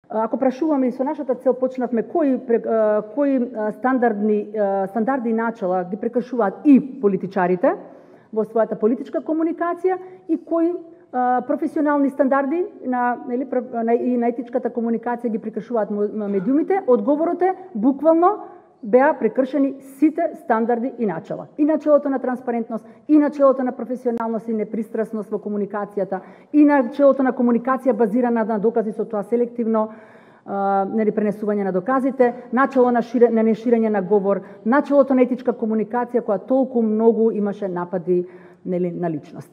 Ако прашуваме и со нашата цел почнавме кои стандарди и начала ги прекршуваат и политичарите во својата политичка комуникација и кои професионални стандарди и на етичката комуникација ги прекршуваат медиумите, одговорот е буквално беа прекршени сите стандарди и начала. И начелото на транспарентност, и начелото на професионалност и непристрасност во комуникацијата, и начелото на комуникација базирана на докази, со тоа селективно пренесување на доказите, начело на неширење на говор, начелото на етичка комуникација која толку многу имаше напади на личност.